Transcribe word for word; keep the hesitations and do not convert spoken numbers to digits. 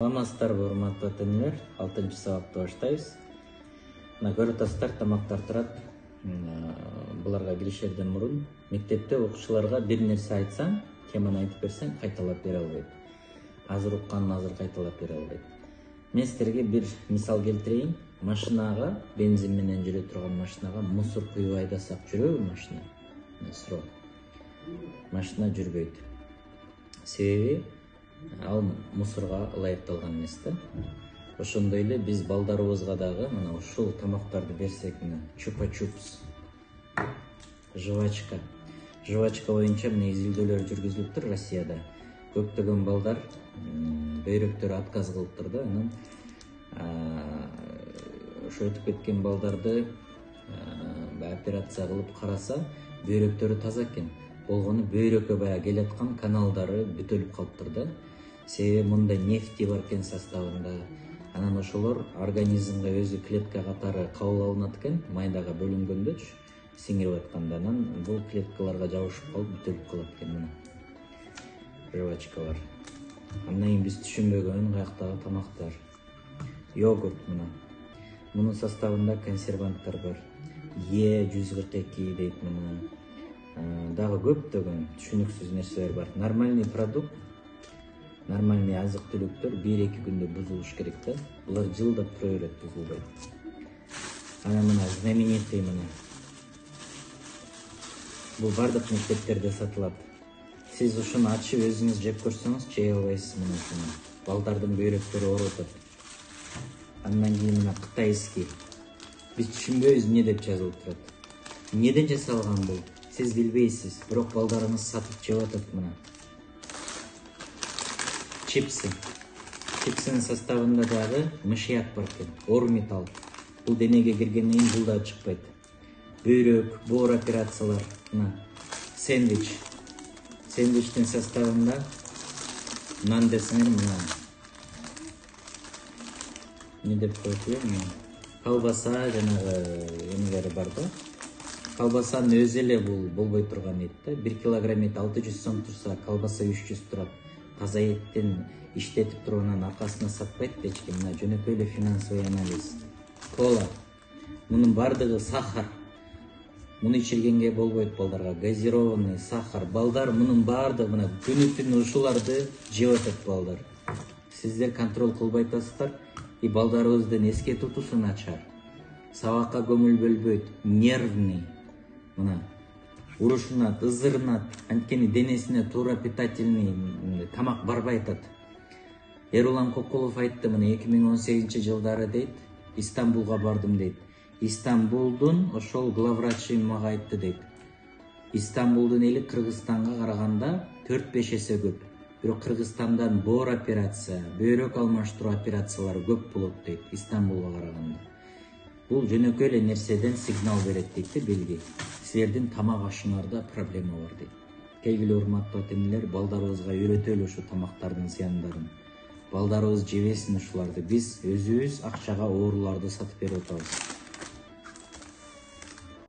Саламатсыздарбы, урматтуу ата-энелер. алтынчы сабакты баштайбыз. Мына көрүп атасыздар, тамактар турат. Буларга киришерден мурун мектепте окуучуларга бир нерсе айтсаң, теманы айтып берсең, кайталап бере албайт. Азыр укканын азыр кайталап бере албайт. Мен силерге бир мисал келтирейин. Машинага, бензин менен жүрө турган машинага мусор куюп айдасак жүрөбү машина? Суроо. Машина жүрбөйт. Себеби ал мусорго ылайыкталган эмес да. Ошондой эле биз балдарыбызга дагы мына ушул тамактарды берсек, мына чупа-чупс, жвачка. Жвачка боюнча мына изилдөөлөр жүргүзүлүптүр Россияда. Көптөгөн балдар бөйрөктөрү отказ кылыптыр да. Анан ошо өтүп кеткен балдарды операция кылып караса, бөйрөктөрү таза экен. Болгону бөйрөккө баягы келаткан каналдары бүтөлүп калыптыр да. Себеби мындай нефти бар экен составында. Анан ошолор организмге өзү клетка катары кабыл алынат экен, майдага бөлүнгөндөчү, сиңирип атканда. Анан бул клеткаларга жабышып калып бүтөлүп калат экен мына. Жвачкалар. Андан кийин биз түшүнбөгөн каяктагы тамактар. Йогурт мына. Мунун составында консерванттар бар. Е жүз кырк эки дейт мына. Дагы көптөгөн түшүнүксүз нерселер бар. Нормальный продукт, нормальный азык-түлүктөр бир-эки күндө бузулуш керек да. Булар жылдап тура берет, бузулбайт. Анан мына знаменитый мына. Бул бардык мектептерде сатылат. Сиз ушуну ачып өзүңүз жеп көрсөңүз, жей албайсыз мына ушуну. Балдардын бөйрөктөрү ооруп атат. Андан кийин мына кытайский. Биз түшүнбөйбүз эмне деп жазылып турат. Эмнеден жасалган бул? Сиз билбейсиз, бирок балдарыңыз сатып жеп атат мына. Чипсы. Чипсинин составында дагы мышьяк бар экен, оор металл. Бул денеге киргенден кийин бул да чыкпайт. Бөйрөк, боор операциялар, мына. Сэндвич. Сэндвичтин составында нан десеңер мына. Не деп коет элем? Колбаса жанагы эмелери бар да. Колбасанын өзү эле бул болбой турган эт да. бир килограмм эт алты жүз сом турса, колбаса үч жүз турат. Таза эттен иштетип туруп анан аркасына сатпайт да эч ким. Мына жөнөкөй эле финансовый анализ. Кола. Мунун бардыгы сахар. Муну ичиргенге болбойт балдарга. Газированный сахар. Балдар мунун бардыгы мына күнү-түнү ушуларды жеп атат балдар. Сиздер контроль кылбай атасыздар. И балдарыбыздын эске тутуусу начар. Сабакка көңүл бөлбөйт, нервный. Мына урушунат, ызырынат, анткени денесине туура питательный тамак барбай атат. Эрулан Кокулов айтты мына эки миң он сегизинчи жылдары дейт, Истанбулга бардым дейт. Истанбулдун ошол главврачы мага айтты дейт. Истанбулдун эли Кыргызстанга караганда төрт-беш эсе көп. Бирок Кыргызстандан боор операция, бөйрөк алмаштыруу операциялары көп болот дейт Истанбулга караганда. Бул жөнөкөй эле нерседен сигнал берет дейт, белги. Силердин тамак ашыңарда проблема бар дейт. Келгиле урматтуу ата-энелер, балдарыбызга үйрөтөлү ушу тамактардын зыяндарын. Балдарыбыз жебесин ушуларды. Биз өзүбүз акчага ооруларды сатып берип атабыз.